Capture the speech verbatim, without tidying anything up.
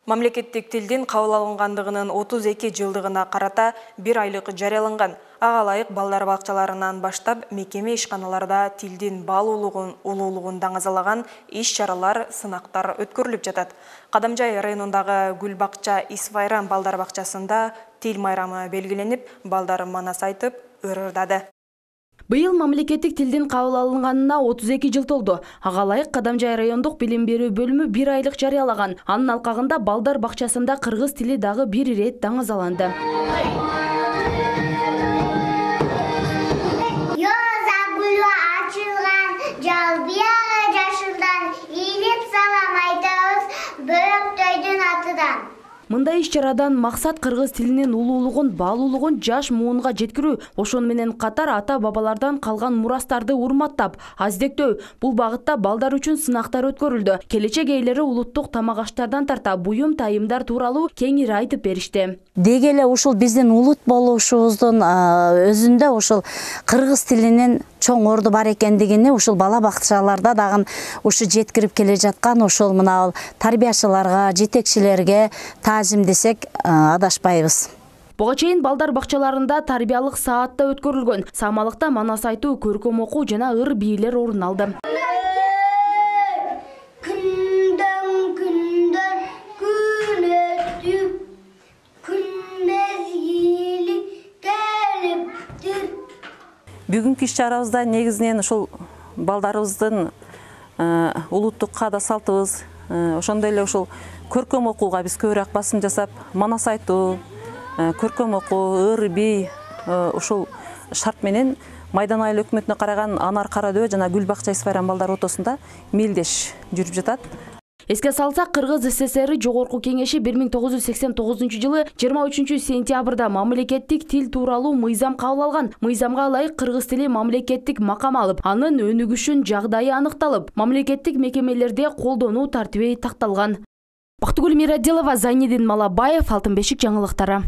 Мамлекеттик тилдин кабыл алынгандыгынын отуз эки жылдыгына карата бир айлык жарыяланган. Ага ылайык балдар бакчаларынан баштап мекеме ишканаларда тилдин баалуулугун, улуулугун даңазалаган иш-чаралар, сынактар өткөрүлүп жатат. Кадамжай районундагы Гүл бакча Исвайран балдар бакчасында тил майрамы белгиленип, балдар манас айтып, ырырдады. Быйыл мамлекеттик тилдин кабыл алынганына отуз эки жыл толду. Ага ылайык Кадамжай райондук билим берүү бөлүмү бир айлык жарыялаган. Анын алкагында балдар бакчасында кыргыз тили дагы бир ирет даңазаланды. Мындай иш-чарадан максат кыргыз тилинин улуулугун, баалуулугун жаш муунга жеткирүү, ошону менен катар ата-бабалардан калган мурастарды урматтап, аздектөө. Бул багытта балдар үчүн сынактар өткөрүлдү. Келечек ээлери улуттук тамак аштардан тарта буюм тайымдар тууралуу кеңири айтып беришти. Деги эле ушул биздин улут болушубуздун өзүндө ушул кыргыз тилинин чоң орду бар экендигини ушул бала бакчаларда дагы ушу жеткирип келе жаткан ошол мына тарбиячыларга, жетекчилерге таазим десек адашпайбыз. Буга чейин балдар бакчаларында тарбиялык саат да өткөрүлгөн. Самалыкта манас айтуу, көркөм окуу жана ыр бийлер орун алды. Бүгүнкү иш-чарабызда негизинен ушул балдарыбыздын улуттук каада салтыбыз, ошондой эле ушул көркөм окууга биз көбүрөөк басым жасап, манас айтуу, көркөм окуу, ыр бий ушул шарт менен Майдан айыл өкмөтүнө караган Анар Карадөбө жана Гүл бакча Исвайран балдар отосунда мелдеш жүрүп жатат. Эске салсак, Кыргыз СССР Жогорку кеңеши бир миң тогуз жүз сексен тогузунчу жылы жыйырма үчүнчү сентябрда мамлекеттик тил тууралуу мыйзам кабыл алган. Мыйзамга ылайык кыргыз тили мамлекеттик макам алып, анын өнүгүшүн жагдайы аныкталып, мамлекеттик мекемелерде колдонуу тартиби такталган. Бактыгүл Мирадилова, Зайнидин Малабаев, Алтын бешик жаңылыктары.